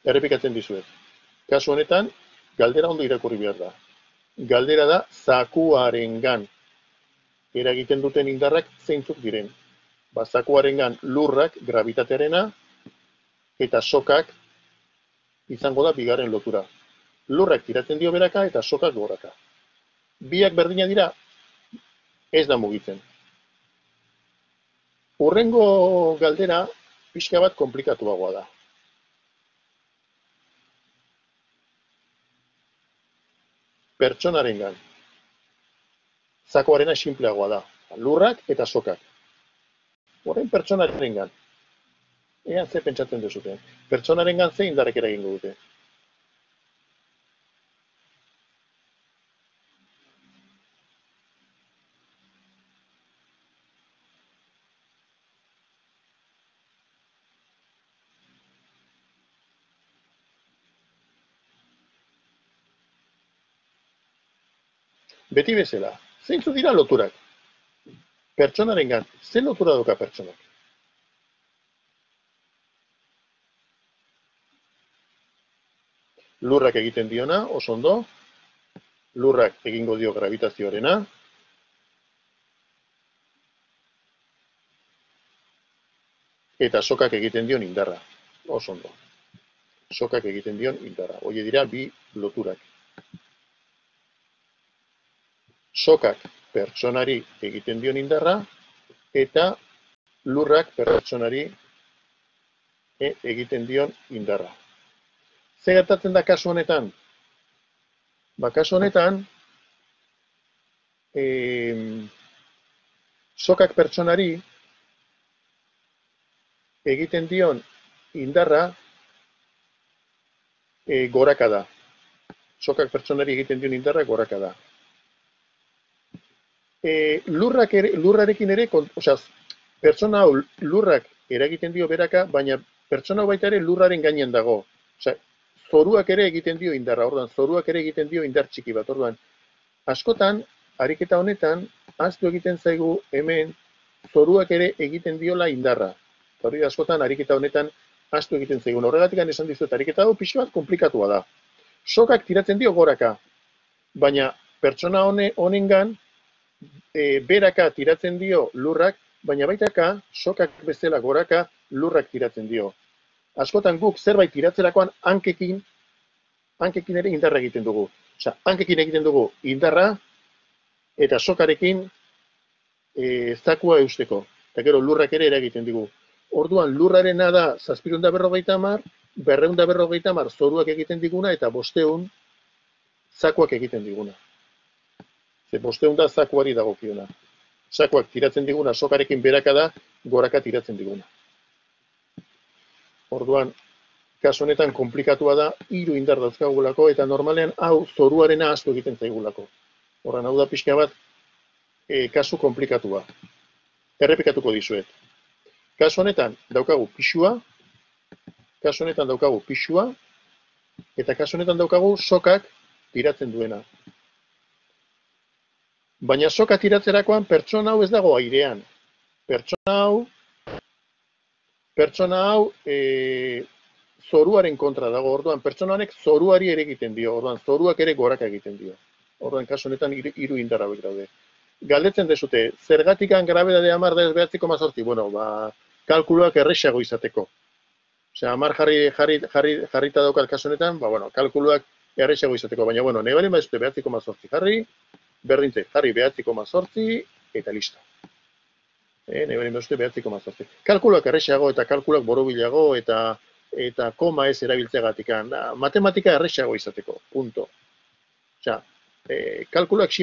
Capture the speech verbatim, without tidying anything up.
Errepikatzen dizuet. Kasu honetan, galdera ondo irakurri behar da. Galdera da zakuarengan eragiten duten indarrak zeintzuk diren. Ba, zakuarengan lurrak, gravitatearena, eta sokak izango da bigarren lotura. Lurrak tiratzen dio beraka eta sokak goraka. Biak berdina dira, ez da mugitzen. Hurrengo galdera pixka bat komplikatuagoa da. Pertsonarengan. Zakuarena sinpleagoa da. Lurrak eta sokak. Horren pertsonarengan. Ean ze pentsatzen duzute. Pertsonarengan ze indarrek eragingo dute. Beti bezala, zeintzu dira loturak? Pertsonarengan, ze lotura dauka pertsonak? Lurrak egiten diona, oso ondo. Lurrak egingo dio gravitazioarena. Eta sokak egiten dion indarra. Oso ondo. Sokak egiten dion indarra. Hoi dira bi loturak. Sokak pertsonari egiten dion indarra, eta lurrak pertsonari egiten dion indarra. Zer gertatzen da kasu honetan? Ba, kasu honetan, e, sokak pertsonari egiten dion indarra e, goraka da. Sokak pertsonari egiten dion indarra goraka da. E, lurrak ere, lurrarekin ere, osea, pertsona hau lurrak eragiten dio beraka, baina pertsona hau baita ere lurraren gainean dago. Osea, zoruak ere egiten dio indarra, orduan, zoruak ere egiten dio indar txiki bat, orduan. Askotan, ariketa honetan, ahaztu egiten zaigu hemen, zoruak ere egiten diola indarra. Hori askotan, ariketa honetan, ahaztu egiten zaigu. Horregatik esan dizuet, ariketa hau pixu bat komplikatua da. Sokak tiratzen dio goraka, baina pertsona honengan, e, beraka tiratzen dio lurrak, baina baitaka, sokak bezala goraka, lurrak tiratzen dio. Askotan guk zerbait tiratzerakoan hankekin, hankekin ere indarra egiten dugu. Osea, hankekin egiten dugu indarra, eta sokarekin e, zakua eusteko. Eta gero lurrak ere eragiten digu. Orduan lurrarena da zazpiehun eta berrogeita hamar, berrehun eta berrogeita hamar zoruak egiten diguna, eta bosteun zakuak egiten diguna. Ze bosteun da zakuari dagokiona. Zakuak tiratzen diguna sokarekin beraka da, goraka tiratzen diguna. Orduan, kasu honetan komplikatua da, hiru indar dauzkagulako, eta normalean hau zoruarena asko egiten zaigulako. Horren hau da pixka bat, e, kasu komplikatua. Errepikatuko dizuet. Kasu honetan daukagu pixua, kasu honetan daukagu pixua, eta kasu honetan daukagu sokak tiratzen duena. Baina soka tiratzerakoan pertsona hau ez dago airean. Pertsona hau, pertsona hau e, zoruaren kontra dago, orduan pertsona honek zoruari ere egiten dio, orduan zoruak ere goraka egiten dio. Orduan kasu honetan hiru indar hauek daude. Galdetzen dezute, zergatikan grabedade hamar da ez bederatzi koma zortzi? Bueno, ba, kalkuluak errexago izateko. Osea, hamar jarri, jarri, jarri, jarrita daukat kasu honetan, ba, bueno, kalkuluak errexago izateko, baina, bueno, nahi bali maizute bederatzi koma zortzi jarri, berdintze, jarri bederatzi koma zortzi, eta listo. E, nahi bali maizute bederatzi koma zortzi. Kalkuluak errexago eta kalkuluak borobilago eta eta koma ez erabiltzeagatik. Matematika errexago izateko, punto. Osea, e, kalkuluak